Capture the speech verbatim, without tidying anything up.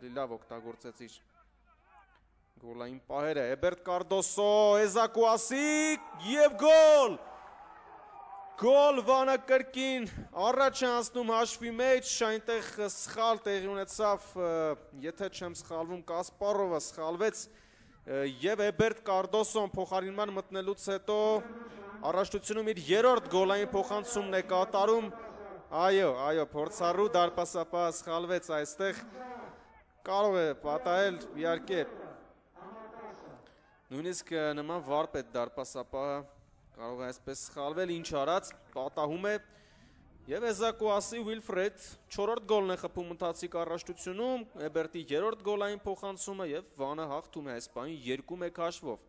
ավելի լավ օգտագործեց իր գոլային պահերը, Էբերտ Կարդոսո, Էզակուասի և գոլ, գոլ Վանը կրկին առաջ է անցնում հաշվի մեջ, այնտեղ սխալ տեղի ունեցավ, եթե չեմ սխալվում Կասպարովը սխալվեց և Էբերտ Կարդոսոն փոխարինման մտնելուց հետո առաջնությունում իր երրորդ գոլային փոխանցումն է կատարում, այո, այո, փորձառու դարպասապահը սխալվեց այստեղ, կարող է պատահել, իհարկե, նույնիսկ նման վարպետ դարպասապահը կարող է այսպես սխալվել, ինչ արած, պատահում է և Էզակուասի Ուիլֆրեդ չորրորդ գոլն է խփում ընթացիկ առաջնությունում, Էբերտի երրորդ գոլային փոխանցումը և Վանը հաղթում է այս պահին երկու մեկ հաշվով։